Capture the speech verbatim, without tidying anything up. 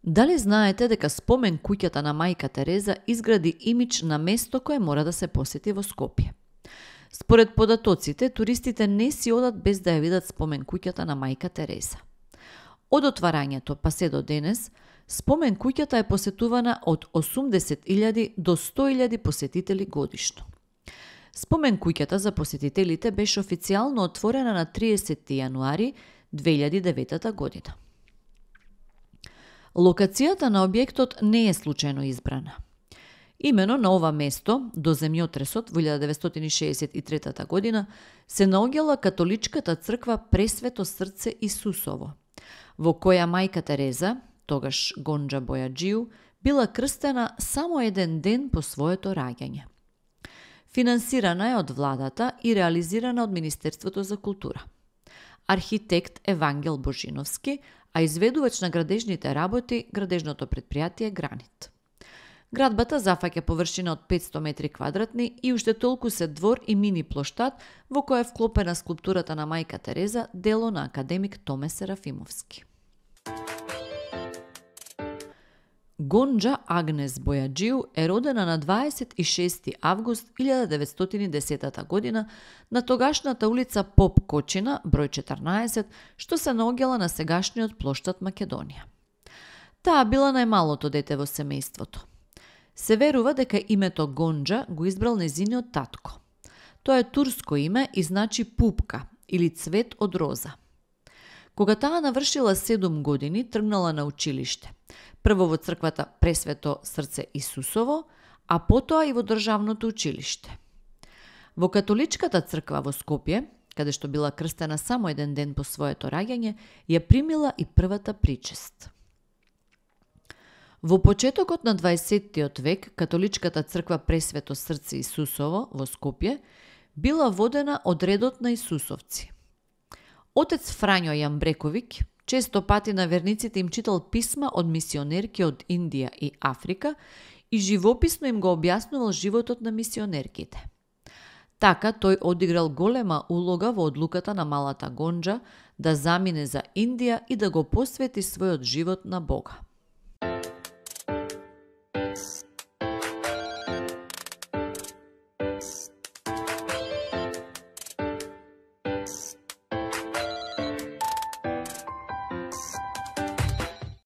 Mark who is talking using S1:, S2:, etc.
S1: Дали знаете дека спомен куќата на мајка Тереза изгради имидж на место кое мора да се посети во Скопје? Според податоците, туристите не си одат без да ја видат спомен куќата на мајка Тереза. Од отварањето па се до денес, спомен куќата е посетувана од осумдесет илјади до сто илјади посетители годишно. Спомен куќата за посетителите беше официјално отворена на триесетти јануари две илјади и девета година. Локацијата на објектот не е случајно избрана. Имено на ова место, до земјотресот во илјада деветстотини шеесет и трета година, се наоѓала католичката црква Пресвето срце Исусово, во која мајка Тереза, тогаш Гонџа Бојаџију, била крстена само еден ден по своето раѓање. Финансирана е од владата и реализирана од Министерството за култура. Архитект Евангел Божиновски, а изведувач на градежните работи градежното претпријатие Гранит. Градбата зафаќа површина од петсто метри квадратни и уште толку се двор и мини плоштад во која е вклопена скулптурата на мајка Тереза, дело на академик Томе Серафимовски. Гонџа Агнес Бојаџију е родена на дваесет и шести август илјада деветстотини и десета година на тогашната улица Поп Кочина, број четрнаесет, што се наоѓала на сегашниот плоштад Македонија. Таа била најмалото дете во семејството. Се верува дека името Гонџа го избрал нејзиниот татко. Тоа е турско име и значи пупка или цвет од роза. Кога таа навршила седум години, тргнала на училиште. Прво во црквата Пресвето срце Исусово, а потоа и во државното училиште. Во католичката црква во Скопје, каде што била крстена само еден ден по своето раѓање, ја примила и првата причест. Во почетокот на дваесеттиот век, католичката црква Пресвето срце Исусово во Скопје била водена од редот на Исусовци. Отец Фрањо Јамбрековиќ често пати на верниците им читал писма од мисионерки од Индија и Африка и живописно им го објаснувал животот на мисионерките. Така тој одиграл голема улога во одлуката на малата Гонџа да замине за Индија и да го посвети својот живот на Бога.